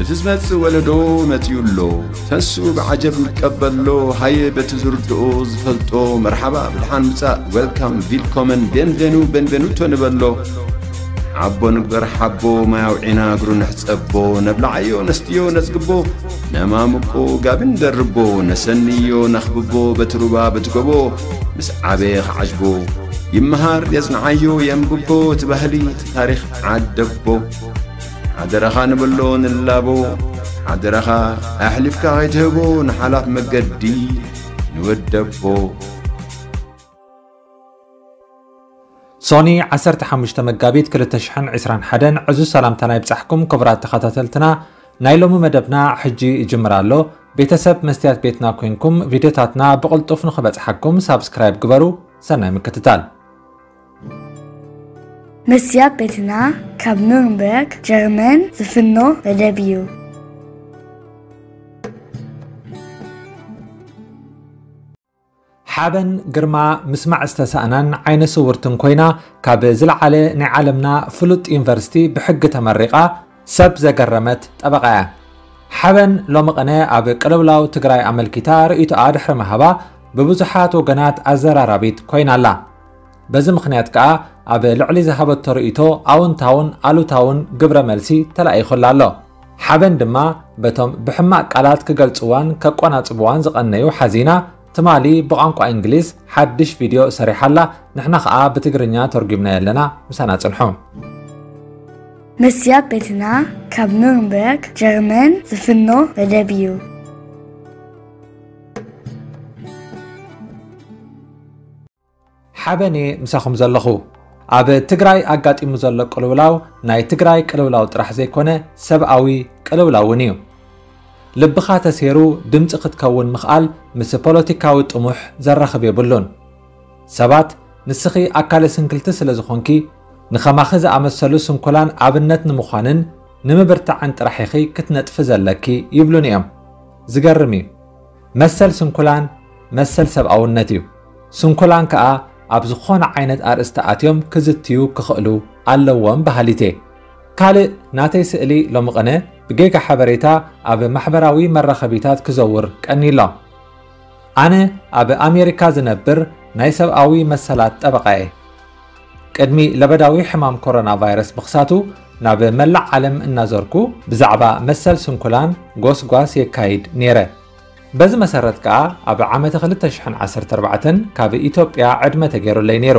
እቲ ዝመጽእ ወለዶ መጺኡ ኣሎ። ተንስኡ ብዓጀብ ንቀበሎ። ሃየ በቲ ዝርድኦ ዝፈልጦ መርሓባ ብድሓን ምጻእ፣ ዌልካም፣ ቪልኮመን፣ ቤንቬኑ፣ ቤንቬኑቶ ንበሎ። ሓቦ ንግበር ሓቦ፣ ማይ ኣውዒና እግሩ ንሕጸቦ። ነብልዓዮ ነስትዮ ነጽግቦ፣ ነማምቆ ጋቢ ንደርቦ። ነሰንዮ ነኽብቦ በቲ ሩባ በቲ ጎቦ። ምስ ዓበየ ክዓጅቦ ይመሃር የጽንዓዮ የንብቦ። እቲ ባህሊ እቲ ታሪኽ ዓደቦ። ሓደራኻ ንበሎ ንላቦ። ሓደራኻ ኣሕሊፍካ ከይትህቦ ንሓላፍ መገዲ ንወደቦ። ሶኒ ዓሰርተ ሓሙሽተ መጋቢት ክልተ ሽሕን ዕስራን ሓደን ዕዙዝ ሰላምታና ይብጻሕኩም ክቡራት ተኸታተልትና። ናይ ሎሚ መደብና ሕጂ ይጅምር ኣሎ። ቤተሰብ መስትያት ቤትና ኮይንኩም ቪድዮታትና ብቕልጡፍ ንኽበጽሓኩም ሳብስክራይብ ግበሩ። ሰናይ ምክትታል። መስትያት ቤትና ካብ ኑርንበርግ ጀርመን ዝፍኖ መደብ እዩ። ሓበን ግርማ ምስማዕ ዝተሳእናን ዓይነ ስውርትን ኮይና ካብ ዝለዓለ ናይ ዓለምና ፍሉጥ ዩኒቨርሲቲ ብሕጊ ተመሪቓ ሰብ ዘገረመት ጠበቓ እያ። ሓበን ሎሚ ቅነ ኣብ ቅልውላው ትግራይ ኣመልኪታ ርእይቶኣ ድሕሪ ምሃባ ብብዙሓት ወገናት ኣዘራራቢት ኮይና ኣላ። በዚ ምኽንያት ከኣ ኣብ ልዕሊ ዝሃበቶ ርእይቶ ኣውንታውን ኣሉታውን ግብረ መልሲ ተላኢኹላ ኣሎ። ሓበን ድማ በቶም ብሕማቕ ቃላት ክገልጽዋን ከቆናጽብዋን ዝቐነዩ ሓዚና ትማሊ ብቋንቋ እንግሊዝ ሓድሽ ቪድዮ ሰሪሓላ፣ ንሕና ኸኣ ብትግርኛ ተርጒምናዮ ኣለና። ምሳና ጽንሑ። መስትያት ቤትና ካብ ኑርንበርግ ጀርመን ዝፍኖ መደብ እዩ። ሓበን እየ ምሳኹም ዘለኹ። ኣብ ትግራይ ኣጋጢሙ ዘሎ ቅልውላው ናይ ትግራይ ቅልውላው ጥራሕ ዘይኮነ ሰብኣዊ ቅልውላው እውን እዩ። ልብኻ ተሴሩ ድምፂ ክትከውን ምኽኣል ምስ ፖለቲካዊ ጥሙሕ ዘራኽብ የብሉን። ሰባት ንስኺ ኣካለ ስንክልቲ ስለ ዝኾንኪ ንኸማኺ ዝኣመሰሉ ስንኩላን ኣብነት ንምዃንን ንምብርታዕን ጥራሕ ኢኺ ክትነጥፊ ዘለኪ ይብሉኒ እዮም። ዝገርም እዩ። መሰል ስንኩላን መሰል ሰብኣውነት እዩ። ስንኩላን ከኣ ኣብ ዝኾነ ዓይነት ኣርእስቲ ኣትዮም ክዝትዩ ክኽእሉ ኣለዎም በሃሊት እየ። ካልእ ናተይ ስእሊ ሎሚ ቅነ ብጌጋ ሓበሬታ ኣብ ማሕበራዊ መራኸቢታት ክዘውር ቀንዩ ኣሎ። ኣነ ኣብ ኣሜሪካ ዝነብር ናይ ሰብኣዊ መሰላት ጠበቓ እየ። ቅድሚ ለበዳዊ ሕማም ኮሮና ቫይረስ ምኽሳቱ ናብ መላእ ዓለም እናዞርኩ ብዛዕባ መሰል ስንኩላን ጎስጓስ የካይድ ነይረ። በዚ መሰረት ከኣ ኣብ ዓመተ ክልተ ሽሕን ዓሰርተ ኣርባዕተን ካብ ኢትዮጵያ ዕድመ ተገይሩለይ ነይሩ።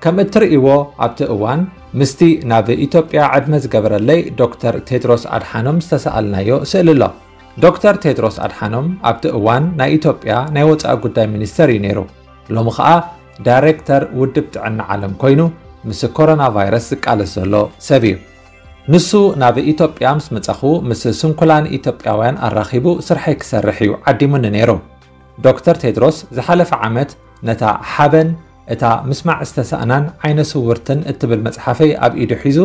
ከም እትርእይዎ ኣብቲ እዋን ምስቲ ናብ ኢትዮጵያ ዕድመ ዝገበረለይ ዶክተር ቴድሮስ ኣድሓኖም ዝተሰኣልናዮ ስእሊ ኣሎ። ዶክተር ቴድሮስ ኣድሓኖም ኣብቲ እዋን ናይ ኢትዮጵያ ናይ ወጻኢ ጉዳይ ሚኒስተር እዩ ነይሩ። ሎሚ ኸኣ ዳይሬክተር ውድብ ጥዕና ዓለም ኮይኑ ምስ ኮሮና ቫይረስ ዝቃለስ ዘሎ ሰብ እዩ። ንሱ ናብ ኢትዮጵያ ምስ መጻኹ ምስ ስንኩላን ኢትዮጵያውያን ኣራኺቡ ስርሐይ ክሰርሕ እዩ ዓዲሙኒ ነይሩ። ዶክተር ቴድሮስ ዝሓለፈ ዓመት ነታ ሓበን እታ ምስማዕ ዝተሳእናን ዓይነ ስውርትን እትብል መጽሓፈይ ኣብ ኢዱ ሒዙ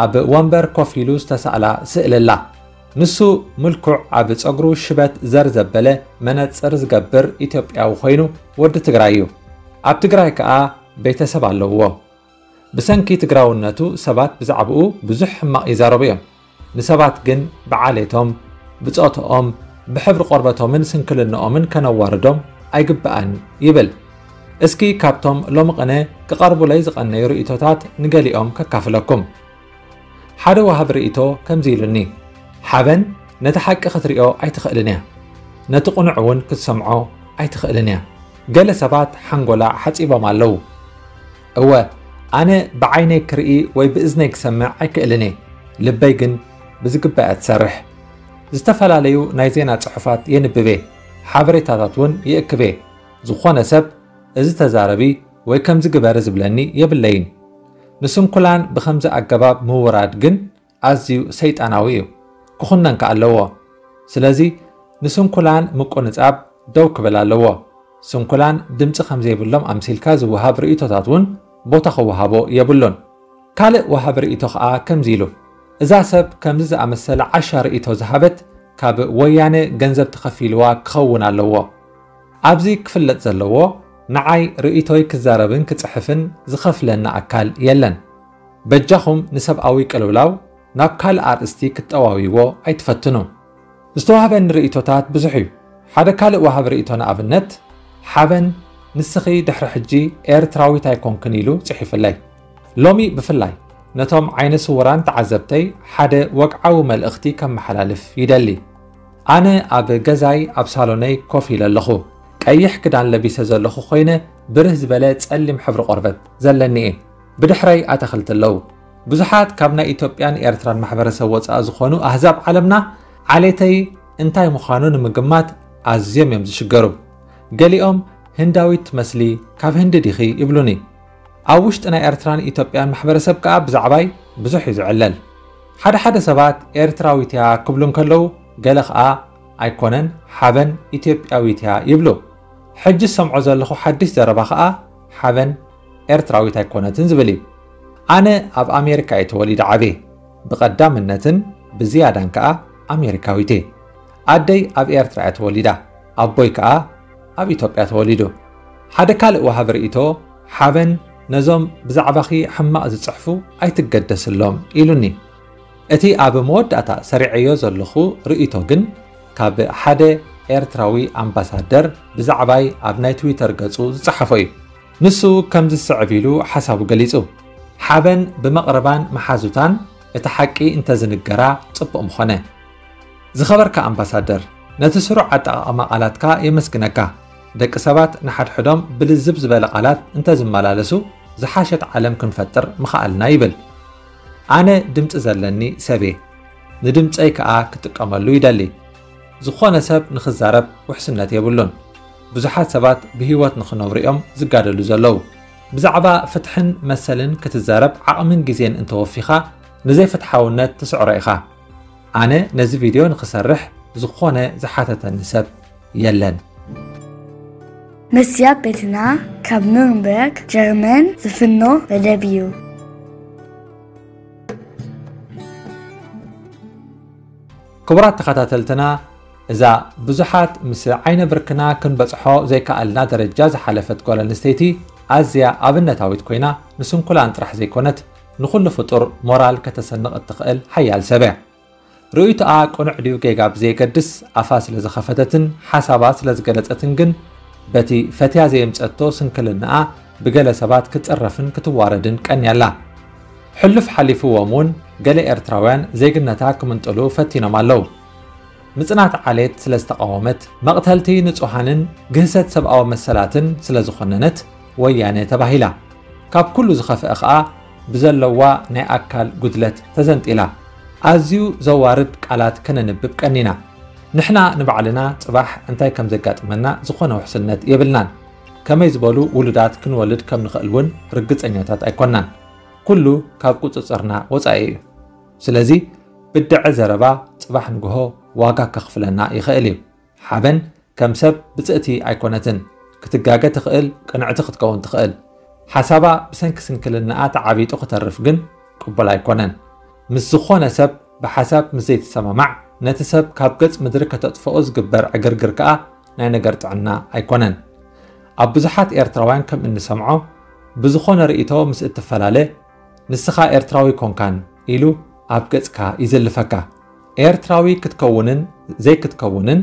ኣብ ወንበር ኮፍ ኢሉ ዝተሳእላ ስእሊ ኣላ። ንሱ ምልኩዕ ኣብ ጸጉሩ ሽበት ዘር ዘበለ መነጽር ዝገብር ኢትዮጵያዊ ኮይኑ ወዲ ትግራይ እዩ። ኣብ ትግራይ ከኣ ቤተሰብ ኣለዎ። ብሰንኪ ትግራውነቱ ሰባት ብዛዕባኡ ብዙሕ ሕማቕ ይዛረቡ እዮም። ንሰባት ግን ብዓሌቶም፣ ብጾትኦም፣ ብሕብሪ ቆርበቶምን ስንክልንኦምን ከነዋርዶም ኣይግባእን ይብል። እስኪ ካብቶም ሎሚ ቅነ ክቐርቡለይ ዝቐነዩ ርእይቶታት ንገሊኦም ከካፍለኩም። ሓደ ወሃቢ ርእይቶ ከምዚ ኢሉኒ፣ ሓበን ነቲ ሓቂ ክትሪኦ ኣይትኽእልን እያ። ነቲ ቅኑዕ እውን ክትሰምዖ ኣይትኽእልን እያ። ገለ ሰባት ሓንጎላ ሓጺቦም ኣለዉ። እወ፣ ኣነ ብዓይነይ ክርኢ ወይ ብእዝነይ ክሰምዕ ኣይክእልን እየ። ልበይ ግን ብዝግባእ እያ ትሰርሕ። ዝተፈላለዩ ናይ ዜና ጽሑፋት የንብብ እየ። ሓበሬታታት እውን ይእክብ እየ። ዝኾነ ሰብ እዚ ተዛረቢ ወይ ከምዚ ግበሪ ዝብለኒ የብለይን። ንስንኩላን ብኸምዚ ኣገባብ ምውራድ ግን ኣዝዩ ሰይጣናዊ እዩ። ክኹነን ከኣ ኣለዎ። ስለዚ ንስንኩላን ምቁንጻብ ደው ክብል ኣለዎ። ስንኩላን ድምጺ ከም ዘይብሎም ኣምሲልካ ዝወሃብ ርእይቶታት እውን ቦታ ክወሃቦ የብሉን። ካልእ ወሃቢ ርእይቶ ከኣ ከምዚ ኢሉ፣ እዛ ሰብ ከምዚ ዝኣመሰለ ዓሻ ርእይቶ ዝሃበት ካብ ወያነ ገንዘብ ተኸፊልዋ ክኸውን ኣለዎ። ኣብዚ ክፍለጥ ዘለዎ፣ ንዓይ ርእይቶይ ክዛረብን ክጽሕፍን ዝኸፍለኒ ኣካል የለን። በጃኹም ንሰብኣዊ ቅልውላው ናብ ካልእ ኣርእስቲ ክትጠዋውይዎ ኣይትፈትኑ። ዝተዋህበኒ ርእይቶታት ብዙሕ እዩ። ሓደ ካልእ ወሃቢ ርእይቶ ንኣብነት፣ ሓበን ንስኺ ድሕሪ ሕጂ ኤርትራዊት ኣይኮንክን ኢሉ ጽሒፉለይ። ሎሚ ብፍላይ ነቶም ዓይነ ስውራን ተዓዘብተይ ሓደ ወግዓዊ መልእኽቲ ከመሓላልፍ ይደሊ። ኣነ ኣብ ገዛይ ኣብ ሳሎነይ ኮፍ ኢለ ኣለኹ። ቀይሕ ክዳን ለቢሰ ዘለኹ ኮይነ ብርህ ዝበለ ጸሊም ሕብሪ ቆርበት ዘለኒ እየ። ብድሕረይ ኣታኽልቲ ኣለዉ። ብዙሓት ካብ ናይ ኢትዮጵያን ኤርትራን ማሕበረሰብ ወጻኢ ዝኾኑ ኣህዛብ ዓለምና ዓሌተይ እንታይ ምዃኑ ንምግማት ኣዝዮም እዮም ዝሽገሩ። ገሊኦም ህንዳዊት ትመስሊ፣ ካብ ህንዲ ዲኺ ይብሉኒ። ኣብ ውሽጢ ናይ ኤርትራን ኢትዮጵያን ማሕበረሰብ ከኣ ብዛዕባይ ብዙሕ እዩ ዝዕለል። ሓደ ሓደ ሰባት ኤርትራዊት እያ ክብሉ እንከለዉ፣ ገለ ከኣ ኣይኮነን፣ ሓበን ኢትዮጵያዊት እያ ይብሉ። ሕጂ ዝሰምዖ ዘለኹ ሓድሽ ዘረባ ከኣ ሓበን ኤርትራዊት ኣይኮነትን ዝብል እዩ። ኣነ ኣብ ኣሜሪካ እየ ተወሊደ ዓብየ። ብቐዳምነትን ብዝያዳን ከኣ ኣሜሪካዊት እየ። ኣደይ ኣብ ኤርትራ እያ ተወሊዳ፣ ኣቦይ ከኣ ኣብ ኢትዮጵያ ተወሊዱ። ሓደ ካልእ ወሃቢ ርእይቶ፣ ሓበን ነዞም ብዛዕባኺ ሕማቕ ዝጽሕፉ ኣይትገደስሎም ኢሉኒ። እቲ ኣብ መወዳእታ ሰሪዐዮ ዘለኹ ርእይቶ ግን ካብ ሓደ ኤርትራዊ ኣምባሳደር ብዛዕባይ ኣብ ናይ ትዊተር ገጹ ዝጸሓፎ እዩ። ንሱ ከምዚ ዝስዕብ ኢሉ ሓሳቡ ገሊጹ። ሓበን ብመቕርባን መሓዙታን እቲ ሓቂ እንተዝንገራ ጽቡቕ ምኾነ። ዝኸበርካ ኣምባሳደር፣ ነቲ ስሩዕ ኣጠቓቕማ ቃላትካ የመስግነካ። ደቂ ሰባት ንሓድሕዶም ብልዝብ ዝበለ ቃላት እንተዝመላለሱ ዝሓሸት ዓለም ክንፈጥር ምኸኣልና ይብል። ኣነ ድምጺ ዘለኒ ሰብ እየ። ንድምጸይ ከኣ ክጥቀመሉ ይደሊ። ዝኾነ ሰብ ንኽዛረብ ውሕስነት የብሉን። ብዙሓት ሰባት ብህይወት ንኽነብሩ እዮም ዝጋደሉ ዘለዉ። ብዛዕባ ፍትሕን መሰልን ክትዛረብ ዓቕምን ግዜን እንተወፊኻ ንዘይፍትሓውነት ትስዕሮ ኢኻ። ኣነ ነዚ ቪድዮ ንኽሰርሕ ዝኾነ ዝሓተተኒ ሰብ የለን። መስትያት ቤትና ካብ ኑርንበርግ ጀርመን ዝፍኖ መደብ እዩ። ክቡራት ተኸታተልትና፣ እዛ ብዙሓት ምስ ዓይነ ብርክና ክንበጽሖ ዘይከኣልና ደረጃ ዝሓለፈት ጓል ኣንስተይቲ ኣዝያ ኣብነታዊት ኮይና ንስንኩላን ጥራሕ ዘይኮነት ንኹሉ ፍጡር ሞራል ከተሰንቕ እትኽእል ሓያል ሰብ እያ። ርእይቶኣ ቅኑዕ ድዩ ጌጋ ብዘየገድስ ኣፋ ስለ ዝኸፈተትን ሓሳባ ስለ ዝገለጸትን ግን በቲ ፈትያ ዘየምጸቶ ስንክልናኣ ብገለ ሰባት ክትጽረፍን ክትዋረድን ቀንያ ኣላ። ሕሉፍ ሓሊፉዎም እውን ገለ ኤርትራውያን ዜግነታ ክምንጥሉ ፈቲኖም ኣለዉ። ምጽናት ዓሌት ስለ ዝተቓወመት፣ መቕተልቲ ንጹሃንን ግህሰት ሰብኣዊ መሰላትን ስለ ዝኾነነት ወያነ ተባሂላ። ካብ ኩሉ ዝኸፍአ ኸኣ ብዘለዋ ናይ ኣካል ጉድለት ተዘንጢላ። ኣዝዩ ዘዋርድ ቃላት ከነንብብ ቀኒና። ንሕና ንባዕልና ጽባሕ እንታይ ከም ዘጋጥመና ዝኾነ ውሕስነት የብልናን። ከመይ ዝበሉ ውሉዳት ክንወልድ ከም ንኽእል እውን ርግጸኛታት ኣይኮናን። ኩሉ ካብ ቁጽጽርና ወጻኢ እዩ። ስለዚ ብድዐ ዘረባ ጽባሕ ንግሆ ዋጋ ከኽፍለና ይኽእል እዩ። ሓበን ከም ሰብ ብጽእቲ ኣይኮነትን። ክትጋገ ትኽእል፣ ቅንዕቲ ክትከውን ትኽእል። ሓሳባ ብሰንኪ ስንክልናኣ ተዓቢጡ ክተርፍ ግን ቅቡል ኣይኮነን። ምስ ዝኾነ ሰብ ብሓሳብ ምስ ዘይትሰማማዕ፣ ነቲ ሰብ ካብ ገጽ ምድሪ ከተጥፍኦ ዝግበር ዕግርግር ከኣ ናይ ነገር ጥዕና ኣይኮነን። ኣብ ብዙሓት ኤርትራውያን ከም እንሰምዖ፣ ብዝኾነ ርእይቶ ምስ እትፈላለ፣ "ንስኻ ኤርትራዊ ኮንካን" ኢሉ ኣብ ገጽካ ይዝልፈካ። ኤርትራዊ ክትከውንን ዘይክትከውንን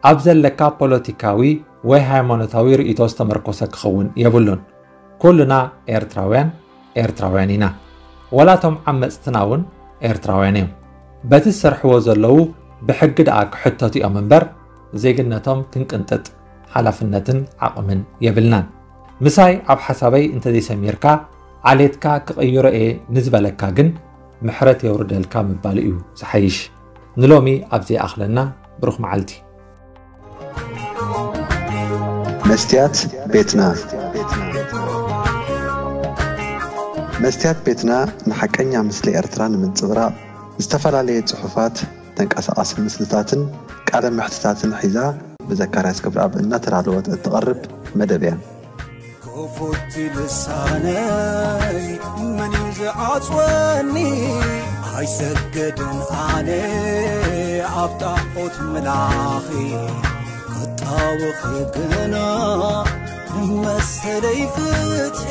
ኣብ ዘለካ ፖለቲካዊ ወይ ሃይማኖታዊ ርእይቶ ዝተመርኮሰ ክኸውን የብሉን። ኩልና ኤርትራውያን ኤርትራውያን ኢና። ወላ እቶም ዓመጽትና እውን ኤርትራውያን እዮም። በቲ ዝሰርሕዎ ዘለዉ ብሕጊ ደኣ ክሕተቱ እዮም እምበር ዜግነቶም ክንቅንጥጥ ሓላፍነትን ዓቕምን የብልናን። ምሳይ ኣብ ሓሳበይ እንተዘይሰሚርካ ዓሌትካ ክቕይሮ እየ ንዝበለካ ግን ምሕረት የውርደልካ ምባል እዩ ዝሓይሽ። ንሎሚ ኣብዚ ይኣኽለና። ብሩኽ መዓልቲ። መስትያት ቤትና። መስትያት ቤትና ንሓቀኛ ምስሊ ኤርትራ ንምንጽብራቕ ዝተፈላለየ ጽሑፋት፣ ተንቀሳቓሲ ምስልታትን ቃለ መሕትታትን ሒዛ ብዘካርያስ ገብረኣብ እናተዳለወት እትቐርብ መደብ እያ። ክፉት ልሳነይ መን እዩ ዝዓጽወኒ? ኣይሰግድን ኣነ ኣብ ጣዖት ምላኺ፣ ክጣወኺ ግና ንመሰለይ ፍትሒ።